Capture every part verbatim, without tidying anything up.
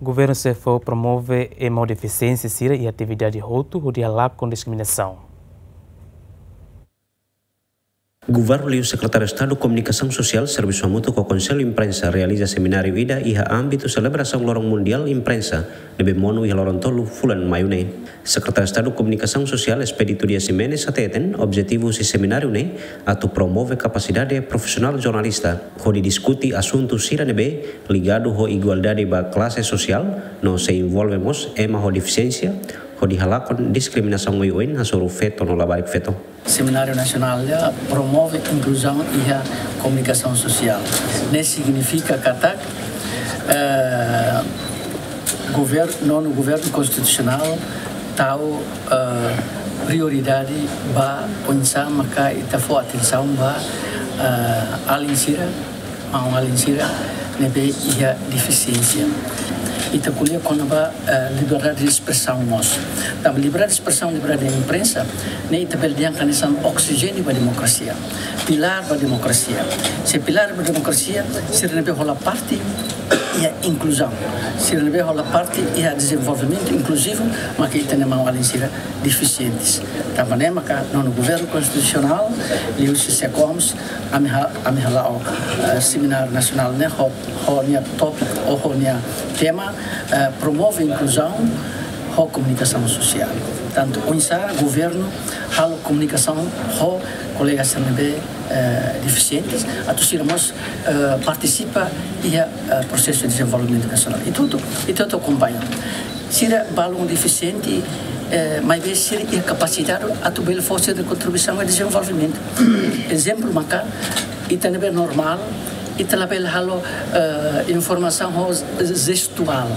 Governu sei fó promove ema ho defisiénsia sira iha atividade hotu hodi halakon diskriminasaun. Governu liu Sekretáriu Estadu Komunikasaun Sosiál servisu hamutuk ho Konsellu Imprensa realiza semináriu ida iha ámbitu selebrasaun Loron Mundiál Imprensa ne'ebé monu iha loron tolu fulan Maiu ne'e. Sekretáriu Estadu Komunikasaun Sosiál Expedito Dias Ximenes hateten objetivu husi semináriu ne'e atu promove kapasidade profisionál jornalista hodi diskute asuntu sira ne'ebé ligadu ho igualdade ba klase sosiál no sei envolve mós ema ho defisiénsia hodi halakon diskriminasaun oioin hasoru feto no labarik feto. Semináriu Nasionál ne'e promove inkluzaun iha komunikasaun sosiál. Ne'e signifika katak, eh, gover-, nonu governu konstitusionál tau, eh, prioridade ba oinsá maka ita fó atensaun ba, eh, alin sira, maun-alin sira ne'ebé iha defisiénsia. Ita ko'alia kona-ba, eh, liberdade de espresaun mós. Tanba liberdade de espresaun, liberdade de imprensa, ne'e ita bele dehan hanesan oksijéniu ba demokrasia, pilár ba demokrasia. Se pilár ba demokrasia, sira ne'ebé hola parte iha inkluzaun, sira ne'ebé hola parte iha dezenvolvimentu inkluzivu, maka ita-nia maun-alin sira defisientes. Tanba ne'e maka nonu governu konstitusionál, liuhusi SEKOMS, ami ha-, ami hala'o, eh, semináriu nasionál ne'e ho, ho nia tópiku, ou ho nia tema, eh, promove inkluzaun ho komunikasaun sosiál. Tantu oinsá governu halo komunikasaun ho kolega sira ne'ebé, eh, defisientes, atu sira mós, eh, partisipa iha, eh, prosesu dezenvolvimentu nasionál. Ita hotu, ita hotu akompaña. Sira balun defisiente, eh, maibé sira iha kapasidade atu bele fó sira-nia kontribuisaun ba dezenvolvimentu. Ezemplu maka, ita ne'ebé normál, ita labele halo, eh, informasaun ho jestuál.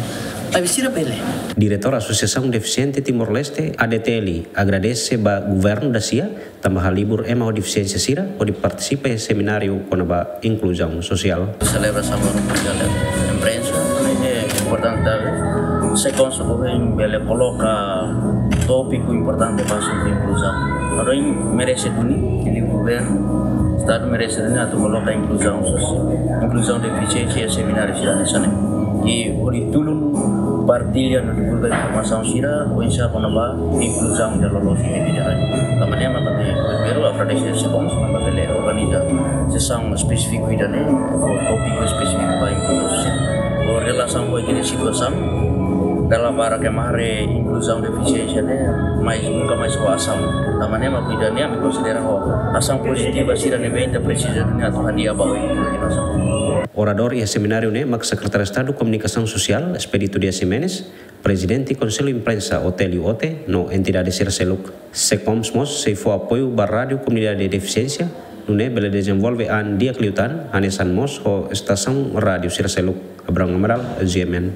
Maibé sira bele. Diretór Asosiasaun Defisiente Timor-Leste, A D T L, agradese ba governu da-sia, tanba halibur ema ho defisiénsia sira hodi partisipa iha semináriu kona-ba inkluzaun sosiál. Selebrasaun Loron Mundiál Imprensa, ne'e importante, talvez. SEKOMS ohin bele koloka tópiku importante ba asuntu inkluzaun. Loron merese duni, liu governu, Estadu merese duni atu koloka inkluzaun sosiál, inkluzaun defisiénsia iha semináriu sira hanesan ne'e. I hodi tulun partilla no divulga informasaun sira, oinsá kona-ba inkluzaun ida loloos iha ita-nia rai. Tanba ne'e mak ami primeiru agradese SEKOMS, tanba bele organiza sesaun espesífiku ida-ne'e, ho tópiku espesífiku ba inkluzaun sosiál. Ho relasaun ho ita-nia situasaun, dala barak ema haree inkluzaun defisiénsia ne'e, mais nunka mais ho asaun. Tanba ne'e mak ida-ne'e ami konsidera ho asaun pozitiva sira ne'ebé ita presiza duni atu hadi'a ba oin inkluzaun. Oradór iha semináriu ne'e mak Sekretáriu Estadu Komunikasaun Sosiál, Expedito Dias Ximenes, Prezidente Konsellu Imprensa, Otélio Ote, no entidade sira seluk. SEKOMS mós sei fó apoiu ba Rádiu Komunidade Defisiénsia, nune'e bele dezenvolve an di'ak liután, hanesan mós ho estasaun rádiu sira seluk. Abrão Amaral, G M N.